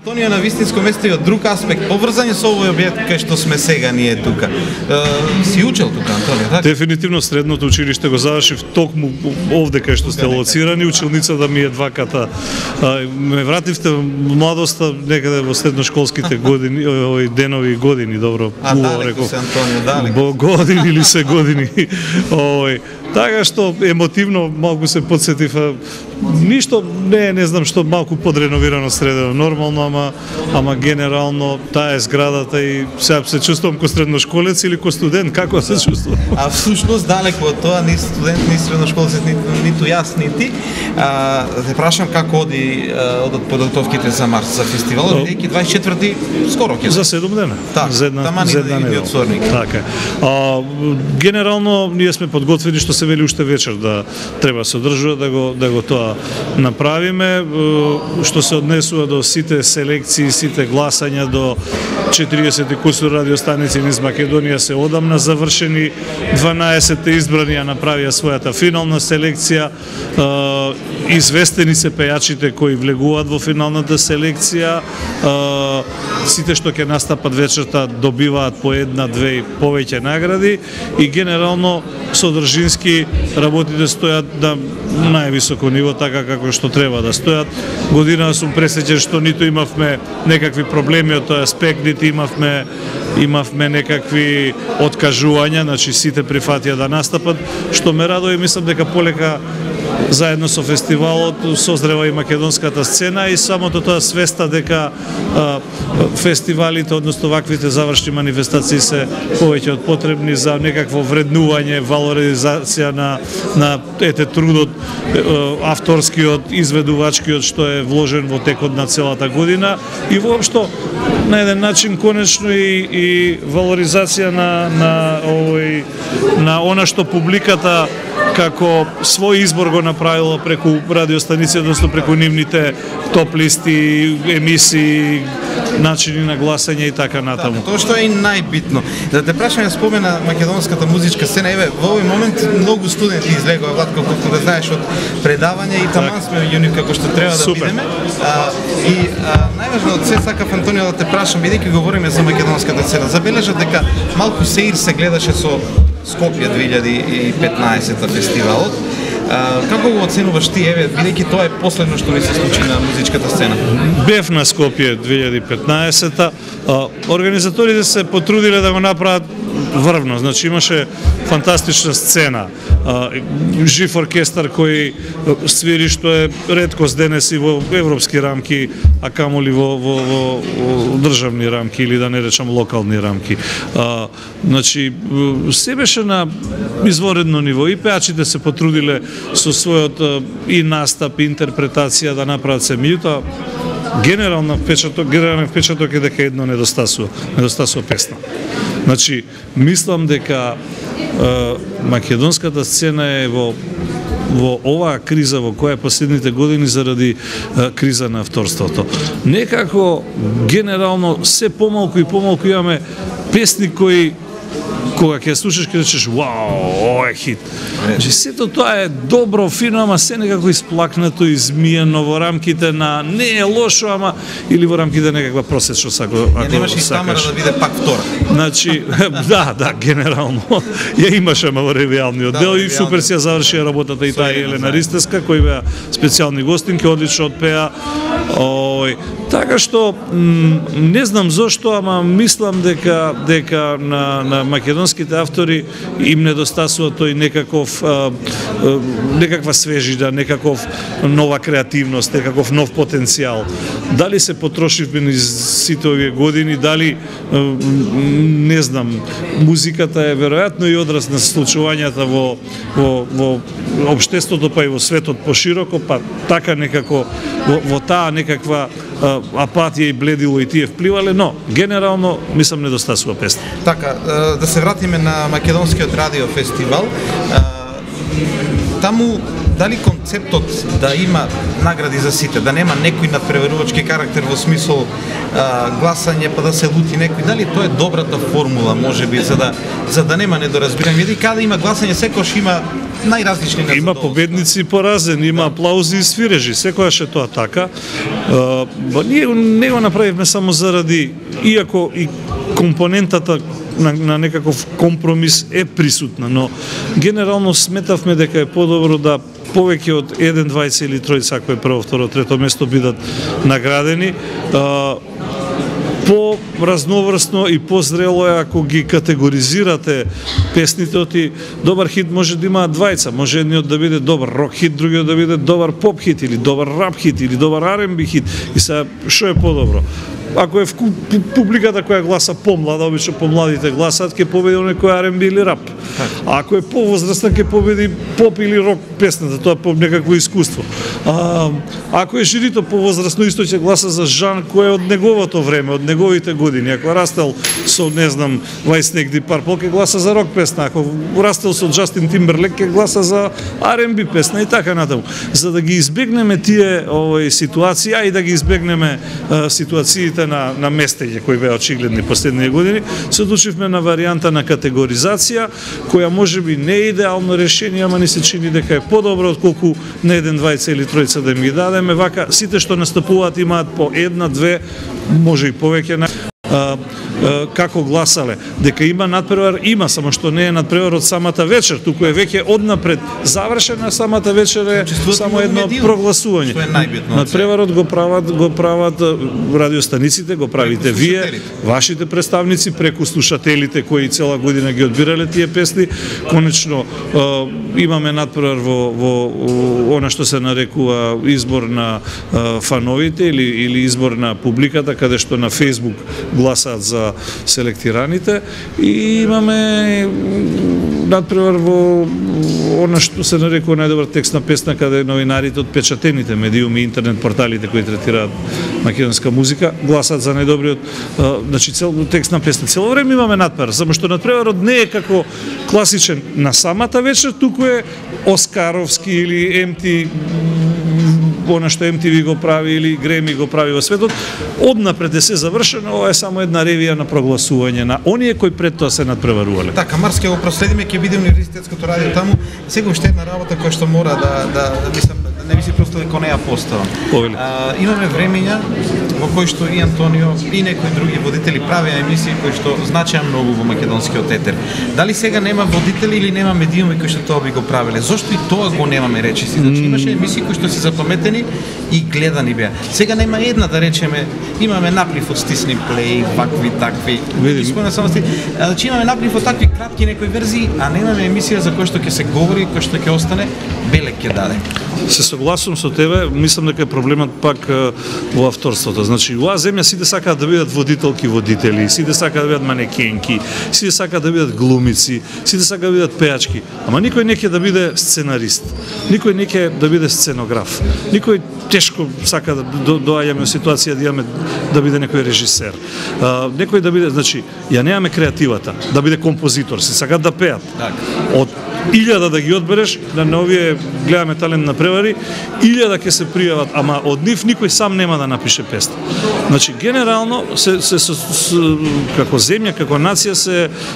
Антонио на вистинско место и од друг аспект, поврзани со овој објект кај што сме сега ние тука. Си учел тука, Антонио, така? Дефинитивно средното училиште го завршив токму овде кај што сте лоцирани, училницата ми е дваката. Ме вративте младоста некаде во средношколските години, овој денови години, добро, убаво реков. Бо години или се години. Така што емотивно малку се подсетив, ништо не знам што малку подреновирано средено, нормално, ама генерално таа е зградата и сега се чувствувам ко средношколец или ко студент, како се чувствувам? А всушност далеко од тоа, ни студент, ни средношколец, ниту јас, ни ти. Те прашам како одат подготовките за март, за фестивалот, бидејќи 24-ти скоро ќе. За 7 дена. За една недела. Така. Генерално ние сме подготвени, што се вели уште вечер да треба се одржува да го тоа направиме, што се однесува до сите селекции, сите гласања до 40 кусур радиостаници низ Македонија се одамна завршени, 12 избрани ја направија својата финална селекција, известени се пејачите кои влегуваат во финалната селекција, сите што ќе настапат вечерта добиваат по една, две и повеќе награди и генерално содржински работите стојат на највисоко ниво, така како што треба да стојат. Година сум пресеќен што ниту имавме некакви проблеми од тој аспект, ниту имавме некакви откажувања, значи сите прифатија да настапат, што ме радува и мислам дека полека заедно со фестивалот созрева и македонската сцена и самото тоа свеста дека фестивалите, односно ваквите завршни манифестации се повеќе од потребни за некакво вреднување, валоризација на трудот авторскиот, изведувачкиот што е вложен во текот на целата година и воопшто на еден начин конечно и валоризација на она што публиката како свој избор го направила преку радиостаници, односно преку нивните топ листи, емисии, начини на гласање и така натаму. Тоа што е и најбитно. Да те прашам, ја спомена македонската музичка сцена, еве, во овој момент многу студенти излегува, Владко, колку да знаеш од предавање и таман сме јуни како што треба да бидеме. И најважно од се сакав, Антонио, да те прашам, бидејќи говориме за македонската сцена, забележав дека малку сеир се гледаше со Скопје 2015 фестивалот. Како го оценуваш ти, еве, бидејќи тоа е последно што ни се случи на музичката сцена? Бев на Скопје 2015-та. Организаторите се потрудиле да го направат врвно, значи имаше фантастична сцена, жив оркестар кој свири, што е реткост денес и во европски рамки, а камоли во државни рамки или да не речам локални рамки. Значи се беше на изворедно ниво и пеачите се потрудиле со својот и настап, и интерпретација да направат се, меѓутоа генерален впечаток е дека едно недостасува песна. Значи, мислам дека македонската сцена е во оваа криза во која последните години заради криза на авторството. Некако генерално се помалку и помалку имаме песни кои кога ќе слушаш ќе речеш вау, ова е хит. Значи сето тоа е добро, фино, ама се некако исплакнато, измиено во рамките на не е лошо, ама или во рамките на некаква просечно ако немаш и Тамара да биде пак втора. Значи да, генерално. Ја имаше ама во ревијалниот дел и супер си ја завршија работата и таа Елена Ристеска, кои беа специјални гостинки, одлично отпеа. Така што не знам зошто, ама мислам дека на македонските автори им недостасува тој некаква свежина, некаков нова креативност, некаков нов потенцијал. Дали се потрошивме низ сите овие години, дали не знам, музиката е веројатно и одраз на случувањата во општеството, па и во светот пошироко, па така некако во таа некаква апатија и бледило и тие впливале, но генерално мислам недостасува песна. Така, да се вратиме на македонскиот радио фестивал. Таму дали концептот да има награди за сите, да нема некој надпреварувачки карактер во смисол гласање па да се лути некој, дали тоа е добрата формула можеби за да нема недоразбирање, и каде има гласање секојаш има најразлични незадоволства. Има победници поразени, има аплаузи и свирежи, секојаш е тоа така. Ние не го направивме само заради, иако и компонентата на некаков компромис е присутна, но генерално сметавме дека е подобро да повеќе од 1, 2 или 3, ако е прво, второ, трето место бидат наградени. По-разноврсно и по-зрело е ако ги категоризирате песните, оти добар хит може да има двајца, може едниот да биде добар рок хит, другиот да биде добар поп хит или добар рап хит или добар R&B хит. И сега што е подобро? Ако е публиката која гласа помлада, обично помладите гласат, ќе победи некој R&B или рап. А ако е повозрастен, ќе победи поп или рок песната, тоа по некакво искуство. Ако е жирито повозрастно, исто ќе гласа за Жан кој е од неговото време, од неговите години. Ако растел со, не знам, White Snake, Deep Purple, ќе гласа за рок песна. Ако растел со Джастин Тимберлек, ќе гласа за R&B песна и така натаму. За да ги избегнеме тие ситуации, а и да ги избегнеме ситуациите на местење кои беа очигледни последните години, се одлучивме на варијанта на категоризација, која можеби не е идеално решение, ама ни се чини дека е подобро отколку на 1, 2 или 3 да им ги дадеме. Вака сите што настапуваат имаат по 1, 2, може и повеќе како гласале. Дека има надпревар, има, само што не е надпревар од самата вечер, туку е веќе однапред завршена самата вечер, е само едно прогласување. Надпреварот го прават радиостаниците, го правите вие, вашите представници, преку слушателите кои цела година ги одбирале тие песни. Конечно имаме надпревар во она што се нарекува избор на фановите или избор на публиката, каде што на Facebook гласаат за селектираните, и имаме надпревар во она што се нарекува најдобар текст на песна, каде новинарите од печатените медиуми, интернет порталите кои третираат македонска музика гласаат за најдобриот текст на песна. Цело време имаме надпревар, само што надпреварот не е како класичен на самата вечер, туку е Оскаровски или она што MTV го прави или Греми го прави во светот. Однапред е се завршено, ова е само една ревија на прогласување на оние кои пред тоа се надпреварувале. Така, Марс ќе го проследиме, ќе биде универзитетското радио таму. Сега уште една работа која што мора не би си просто дека не ја постава. Имаме времења во кои што и Антонио и некои други водители правеа емисии кои што значеа многу во македонскиот етер. Дали сега нема водители или нема медиуми кои што тоа би го правеле? Зошто и тоа го немаме, речиси? Значи имаше емисии кои што се запаметени и гледани беа. Сега нема една, да речеме, имаме наплив од стисни плей, вакви, такви. Значи имаме наплив од такви кратки некои верзии, а немаме емисија за која што ќе се говори, која што ќе остане, белек ќе даде. Се согласувам со тебе, мислам дека е проблемот пак во авторството. Значи, во земја сите сакаат да бидат водители, сите сакаат да бидат манекенки, сите сакаат да бидат глумици, сите сакаат да бидат пеачки, ама никој не ќе да биде сценарист, никој не ќе да биде сценограф, никој тешко сака да доаѓаме во ситуација да биде некој режисер. Некој да биде, значи, ја немаме креативата, да биде композитор, се сакаат да пеат. Од 1000 да ги одбереш, на овие гледаме талент на превари, 1000 ќе се пријават, ама од нив никој сам нема да напише песна. Значи, генерално, како земја, како нација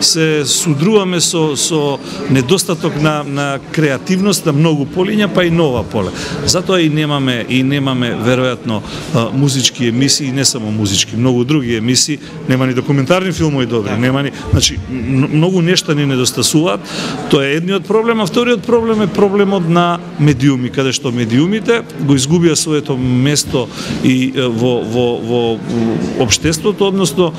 се судруваме со недостаток на креативност на многу полиња, па и нова поле. Затоа и немаме веројатно музички емисии, не само музички, многу други емисии, нема ни документарни филмови добри, нема ни, значи многу нешта ни недостасуваат. Тоа е едниот проблем, а вториот проблем е проблемот на медиуми, каде што медиумите го изгубија своето место и во општеството, односно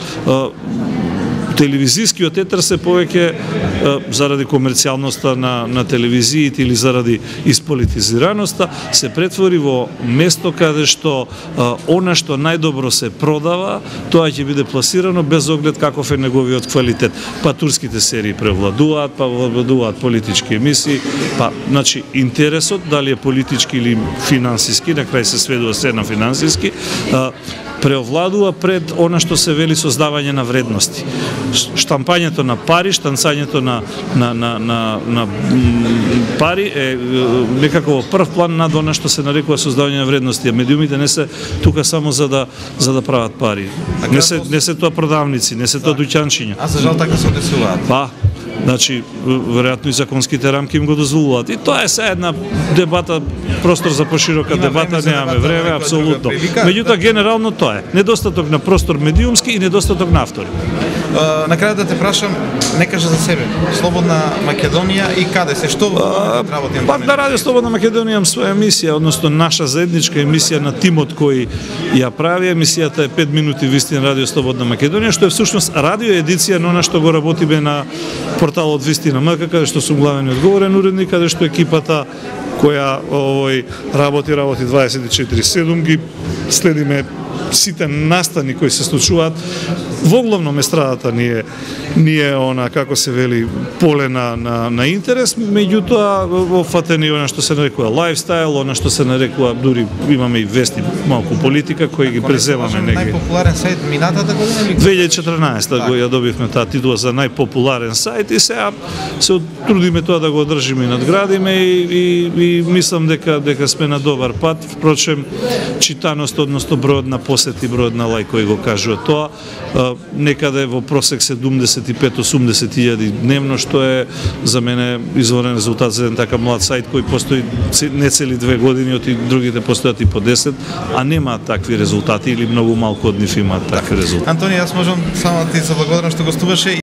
телевизискиот етер се повеќе заради комерцијалноста на телевизиите или заради исполитизираноста се претвори во место каде што она што најдобро се продава, тоа ќе биде пласирано без оглед каков е неговиот квалитет. Па турските серии превладуваат, па превладуваат политички емисии, па значи интересот дали е политички или финансиски, на крај се сведува се на финансиски, преовладува пред она што се вели создавање на вредности. Штампањето на пари, штанцањето на пари е некако во прв план над она што се нарекува создавање на вредности. Медиумите не се тука само за да прават пари. Не се тоа продавници, не се тоа дуќанчиња. А за жал така се одесуваат. Па, значи, веројатно и законските рамки им го дозволуваат. И тоа е се една дебата, простор за поширока дебата, немаме време, апсолутно. Меѓутоа, генерално тоа е. Недостаток на простор медиумски и недостаток на автори. На крај да те прашам, не кажа за себе. Слободна Македонија и каде се? Што работи? Па на Радио Слободна Македонија имам своја емисија, односно наша заедничка емисија на тимот кој ја прави. Емисијата е 5 минути вистина Радио Слободна Македонија, што е всушност радио едиција на она што го работиме на порталот Вистина МК, каде што сум главен и одговорен уредник, каде што екипата која работи 24/7, ги следиме сите настани кои се случуваат. Во главном естрадата ни е она, како се вели, поле на интерес, меѓутоа офатени она што се нарекува лајфстайл, она што се нарекува, дури имаме и вести, малку политика, кои ги преземаме неги. Најпопуларен сајт минатата година или 2014 го ја добивме таа титула за најпопуларен сајт и сега се трудиме тоа да го одржиме и надградиме и мислам дека сме на добар пат. Впрочем, читаност, односно бројот на посети, бројот на лајкови го кажува тоа, некаде во просек 75-80 илјади дневно, што е за мене изворен резултат за еден така млад сајт кој постои не цели 2 години, оти другите постојат и по 10, а нема такви резултати или многу малку од нив имаат такви резултати. Антони, јас можам само да ти се благодарам што гостуваше.